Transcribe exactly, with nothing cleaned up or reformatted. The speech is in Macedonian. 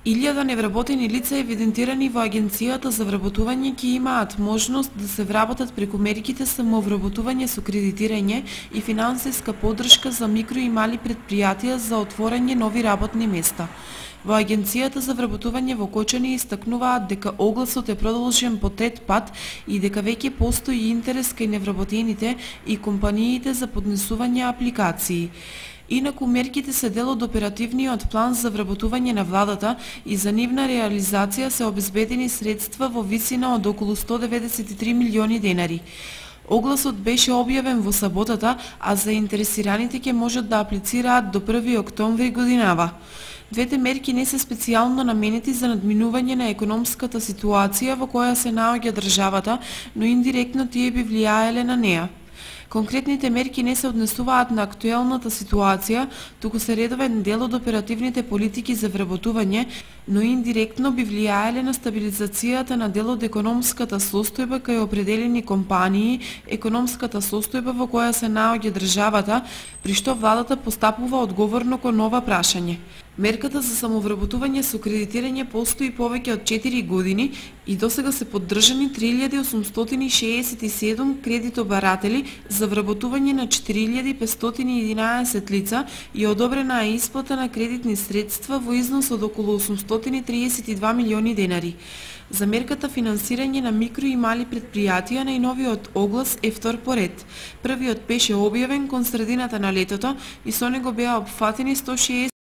илјада невработени лица евидентирани во Агенцијата за вработување ќе имаат можност да се вработат преку мерките самовработување со кредитирање и финансиска поддршка за микро и мали претпријатија за отворање нови работни места. Во Агенцијата за вработување во Кочани истакнуваат дека огласот е продолжен по трет пат и дека веќе постои интерес кај невработените и компаниите за поднесување апликации. Инаку мерките се дел од оперативниот план за вработување на владата и за нивна реализација се обезбедени средства во висина од околу сто деветдесет и три милиони денари. Огласот беше објавен во саботата, а заинтересираните ќе можат да аплицираат до први октомври годинава. Двете мерки не се специјално наменети за надминување на економската ситуација во која се наоѓа државата, но индиректно тие би влијаеле на неа. Конкретните мерки не се однесуваат на актуелната ситуација, туку се редовен дел од оперативните политики за вработување, но индиректно би влијаеле на стабилизацијата на дел од економската состојба кај определени компании, економската состојба во која се наоѓа државата, при што владата постапува одговорно кон ова прашање. Мерката за самовработување со кредитирање постои повеќе од четири години и досега се поддржани три илјади осумстотини шеесет и седум кредитобаратели за вработување на четири илјади петстотини и единаесет лица и одобрена е исплата на кредитни средства во износ од околу осумстотини триесет и два милиони денари. За мерката финансирање на микро и мали претпријатија најновиот оглас е втор по ред. Првиот беше објавен кон средината на летото и со него беа опфатени сто шеесет